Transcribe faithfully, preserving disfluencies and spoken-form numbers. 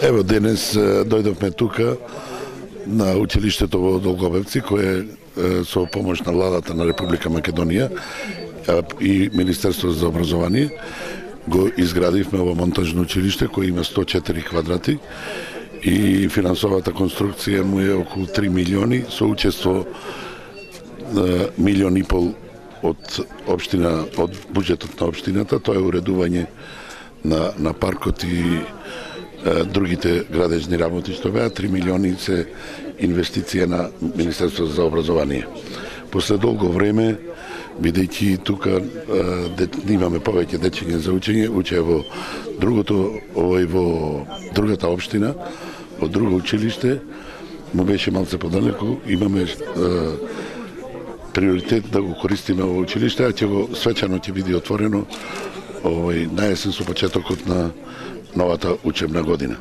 Ево, денес дојдовме тука на училиштето во Долгобевци, кое со помош на владата на Република Македонија и Министерството за образование го изградивме ово монтажно училиште кој има сто и четири квадрати и финансовата конструкција му е околу три милиони со учество милион и пол од општина, од буџетот на општината. Тоа е уредување на, на паркот и е, другите градежни работи што беа. три милиони се инвестиција на Министерството за образование. После долго време, бидејќи тука е, имаме повеќе дечиња за учење, учеа во другото, овој во другата општина, во друго училиште, му беше малце подалеку, имаме е, приоритет да го користиме во училиште, а ќе го свечано ќе биде отворено овој наесен со почетокот на новата учебна година.